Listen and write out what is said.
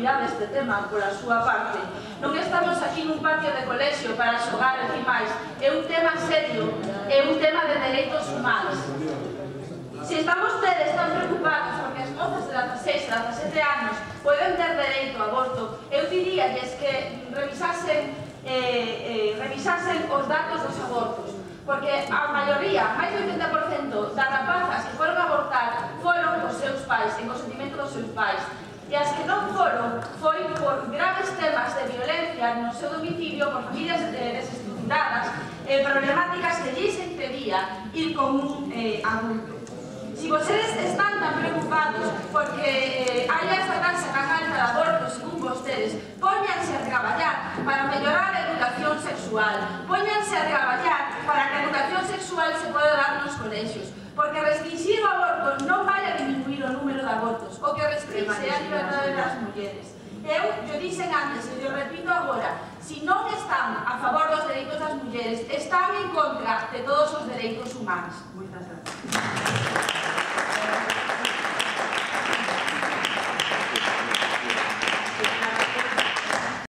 prioridade este tema pola súa parte. Non estamos aquí nun patio de colexio para xogar e máis. É un tema serio, é un tema de dereitos humanos. Se están vostedes tan preocupados porque as mozas de 16 a 17 anos poden ter dereito ao aborto, eu diríalles que revisasen os datos dos abortos, porque a maioría, máis do 80% das rapazas que foron a abortar foron cos seus pais, en consentimento dos seus pais, e as que non foron foi por graves temas de violencia no seu domicilio, por familias desestruturadas, problemáticas que lles impedía ir con un adulto. Si vostedes están tan preocupados porque haya esta taxa tan alta de abortos, según vostedes, póñanse a traballar para mellorar a educación sexual, póñanse a traballar para que a educación sexual se poda dar nos colexios, porque restringir o aborto non vai a diminuir o número de abortos, o que restringe é a liberdade das mulleres. Eu dixen antes e eu repito agora, se non están a favor dos dereitos das mulleres, están en contra de todos os dereitos humanos. Moitas gracias.